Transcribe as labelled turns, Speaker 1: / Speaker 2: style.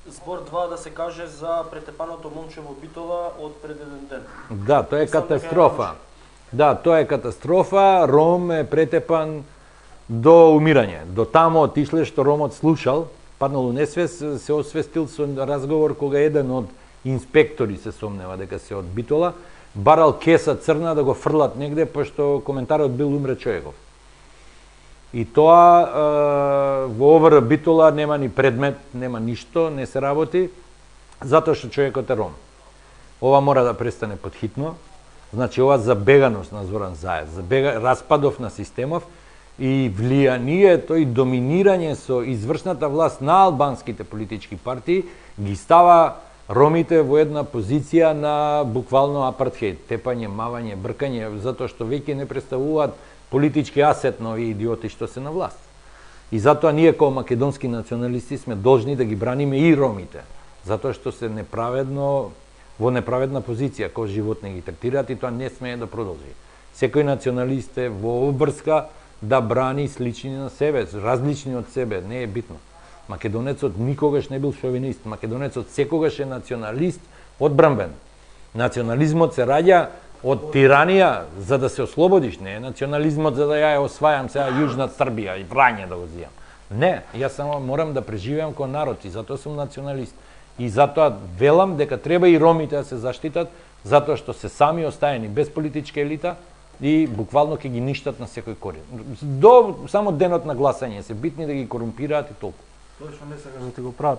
Speaker 1: Збор 2 да се каже за претепаното момче во Битола од пред еден ден.
Speaker 2: Да, тоа е катастрофа. Да, тоа е катастрофа. Ром е претепан до умирање. До тамо отишле што Ромот слушал, паднал у несвес, се освестил со разговор кога еден од инспектори се сомнева дека се од Битола, барал кеса црна да го фрлат негде, пошто коментарот бил умре човеков. И тоа во ОВР Битола нема ни предмет, нема ништо, не се работи, затоа што човекот е ром. Ова мора да престане подхитно. Значи, ова забеганост на Зоран Заев, распадов на системов и влијанието и доминирање со извршната власт на албанските политички партии ги става ромите во една позиција на буквално апартхеид, тепање, мавање, бркање, затоа што веќе не представуваат политички асет на овие идиоти што се на власт. И затоа ние како македонски националисти сме должни да ги браниме и ромите, затоа што се неправедно во неправедна позиција, кој живот не ги третираат и тоа не смее да продолжи. Секој националист е во обврска да брани слични на себе, различни од себе, не е битно. Македонецот никогаш не бил шовинист, македонецот секогаш е националист одбранбен. Национализмот се раѓа од тиранија за да се ослободиш, не е национализмот за да ја освајам сега Јужна Србија и Врање да го зијам. Не, јас само морам да преживеам кој народ и затоа сум националист. И затоа велам дека треба и ромите да се заштитат, затоа што се сами остаени без политичка елита и буквално ќе ги ништат на секој корен. До само денот на гласање се битни да ги корумпираат и толку.
Speaker 3: Тоа што не сакаш да ти го прават.